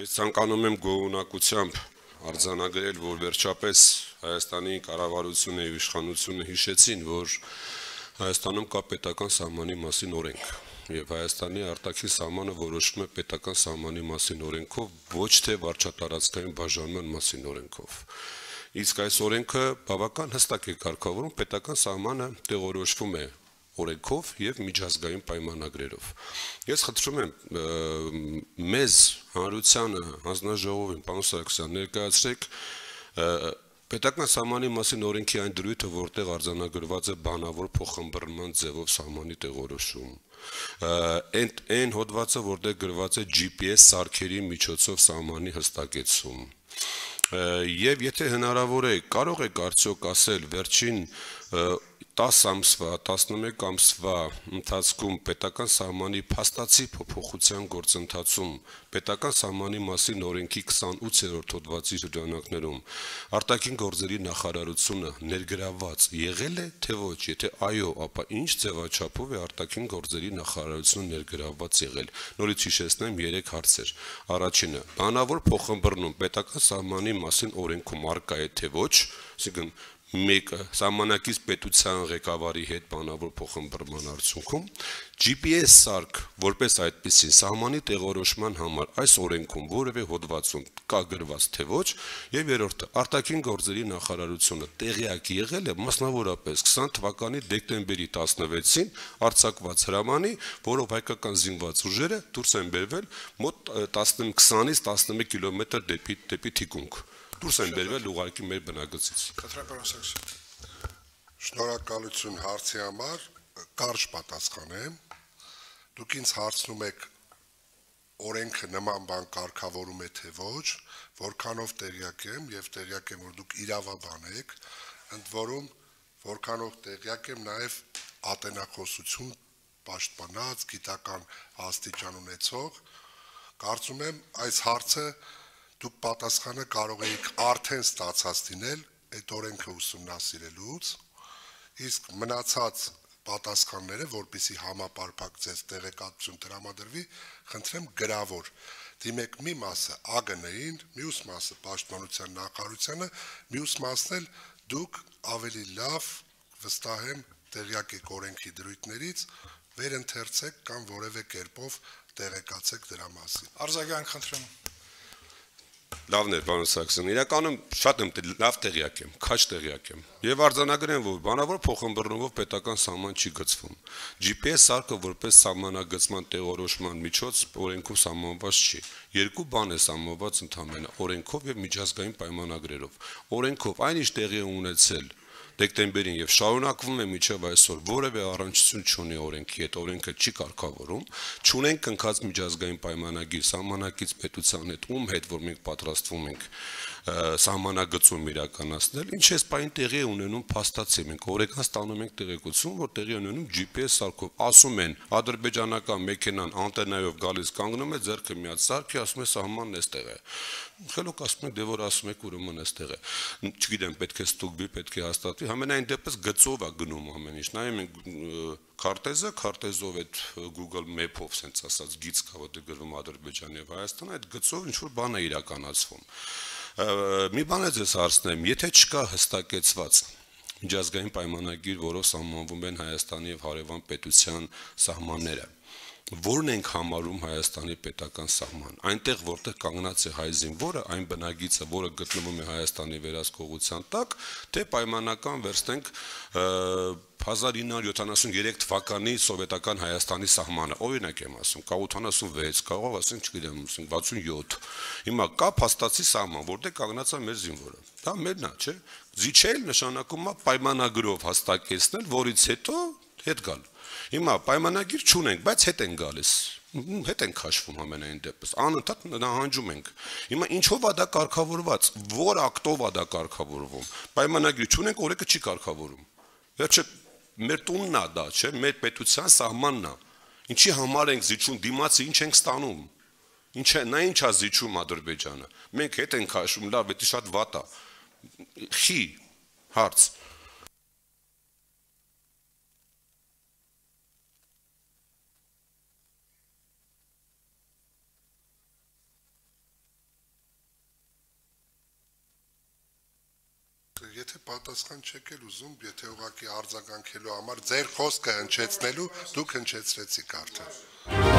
Ես ցանկանում եմ գոհունակությամբ արձանագրել, որ վերջապես Հայաստանի կառավարությունը եւ իշխանությունը հիշեցին, որ Հայաստանում կա պետական սահմանի մասին օրենք եւ Հայաստանի արտաքին սահմանը որոշվում է պետական սահմանի մասին օրենքով, ոչ թե վարչատարածքային բաժանման մասին օրենքով։ Իսկ այս օրենքը բավական հստակ է կարգավորում, պետական սահմանը տեղորոշվում է օրենքով եւ միջազգային պայմանագրերով։ Ես խնդրում եմ մեզ հանրությանը հանձնաժողովին պարոն Սարգսյան ներկայացրեք պետական սահմանի մասին օրենքի այն դրույթը, որտեղ արձանագրված է բանավոր փոխըմբռնման ձևով սահմանի տեղորոշում։ Այն հոդվածը, որտեղ գրված է GPS սարքերի միջոցով սահմանի հստակեցում։ Եվ եթե հնարավոր է, կարող եք արդյոք ասել վերջին 10 ամսվա, 11 ամսվա ընթացքում պետական սահմանի փաստացի փոփոխության գործընթացում պետական սահմանի մասին օրենքի 28-րդ հոդվածի շրջանակներում արտաքին գործերի նախարարությունը ներգրավված եղել է, թե ոչ, եթե այո, ապա ինչ ձևաչափով է արտաքին գործերի նախարարությունը ներգրավված եղել։ Նորից հիշեցնեմ 3 հարցեր։ Առաջինը, բանավոր փոխըմբռնում պետական սահմանի մասին օրենքում առկա է, թե ոչ, այսինքն մեկը սահմանակից պետության ղեկավարի հետ բանավոր փոխըմբռնման արդյունքում GPS սարք որպես այդպիսի սահմանի տեղորոշման համար այս օրենքում որևէ հոդվածում կա գրված թե ոչ եւ երրորդը արտաքին գործերի նախարարությունը տեղյակ եղել է մասնավորապես 20 թվականի դեկտեմբերի 16-ին արձակված հրամանի, որով հայկական զինված ուժերը դուրս են բերվել մոտ 20-ից 11 կիլոմետր դեպի թիկունք դուրս են բերվել ուղղակի մեր բնակեցից։ Շնորհակալություն հարցի համար, կարճ պատասխանեմ։ Դուք ինձ հարցնում եք օրենքը նման բան կարգավորում է թե ոչ, որքանով տեղյակ եմ եւ տեղյակ եմ որ դուք իրավաբան եք, ընդ որում որքանով տեղյակ եմ նաեւ ատենախոսություն պաշտպանած գիտական աստիճան ունեցող, կարծում եմ այս հարցը դուք պատասխանը կարող եք արդեն ստացած լինել այդ օրենքը ուսումնասիրելուց, իսկ մնացած պատասխանները, որպեսզի համապարփակ ձեզ տեղեկատվություն տրամադրվի, խնդրեմ գրավոր։ Դիմեք մի մասը ԱԳՆ-ին, մյուս մասը Պաշտպանության նախարարությանը, մյուս մասն էլ դուք ավելի լավ վստահ եմ տեղյակ եք օրենքի դրույթներից, վերընթերցեք կամ որևէ կերպով տեղեկացեք դրա մասին։ Արձագանք խնդրեմ։ Լավն է, պարոն Սարգսյան, իրականում շատ եմ լավ տեղյակ եմ, քաջ տեղյակ եմ։ Եվ արձանագրեմ, որ բանավոր փոխըմբռնումով պետական սահման չի գծվում։ GPS սարքը որպես սահմանագծման տեղորոշման միջոց օրենքով սահմանված չի։ Երկու բան է սահմանված ընդհանրապես օրենքով եւ միջազգային պայմանագրերով։ Օրենքով այնիշ տեղի ունեցել դեկտեմբերին եւ շարունակվում է մինչեւ այսօր որևէ առնչություն չունի օրենքի հետ, օրենքը չի կարգավորում, չունենք կնքած միջազգային պայմանագիր սահմանակից պետության հետ, ում հետ որ մենք պատրաստվում ենք սահմանագծում իրականացնել, ինչ էս պայն տեղի ունենում փաստացի, մենք օրեկան ստանում ենք տեղեկություն, որ տեղի ունենում GPS սարքով, ասում են ադրբեջանական մեքենան անտենայով գալիս կանգնում է, ձեռքը միած սարքի, ասում է սահմանն էստեղ է։ Խելոք ասում եք, դե որ ասում եք ուրեմն էստեղ է։ Չգիտեմ, պետք է ստուգվի, պետք է հաստատվի, համենայն դեպս գծով է գնում ամեն ինչ։ Նայում ենք քարտեզը, քարտեզով այդ Google Map-ով sense ասած գիծ կա, որտեղ գրվում Ադրբեջան եւ Հայաստան, այդ գծով ինչ որ բան է իրականացվում։ Մի բան է ձեզ հարցնեմ, եթե չկա հստակեցված միջազգային պայմանագիր, որով սահմանվում են Հայաստանի եւ հարևան պետության սահմանները, որն ենք համարում Հայաստանի պետական սահման, այնտեղ որտեղ կանգնած է հայ զինվորը, այն բնագիծը, որը գտնվում է Հայաստանի վերահսկողության տակ, թե պայմանական վերցնենք 1973 թվականի սովետական Հայաստանի սահմանը, օրինակ եմ ասում, կա 86, կարող ասենք, չգիտեմ, 67։ Հիմա կա փաստացի սահման, որտեղ կանգնած է մեր զինվորը։ Դա մերն է, չէ՞։ Զիջել նշանակում է պայմանագրով հստակեցնել, որից հետո հետ գալ։ Հիմա պայմանագիր չունենք, բայց հետ են գալիս։ Հետ են քաշվում ամենայն դեպս, անընդհատ նահանջում ենք։ Հիմա ինչով է դա կարգավորված, որ ակտով է դա կարգավորվում։ Պայմանագիր չունենք, օրենքը չի կարգավորում։ Վերջը մեր տունն է դա, չէ՞, մեր պետության սահմանն է։ Ինչի համար ենք զիջում, դիմացի ինչ ենք ստանում։ Նա ինչ է զիջում Ադրբեջանը։ Մենք հետ ենք քաշում, լավ, դա շատ վատ է։ Խի հարց պատասխան չեք էլ ուզում, եթե ուղղակի արձագանքելու համար ձեր խոսքը հնչեցնելու դուք հնչեցրեցիք արդեն։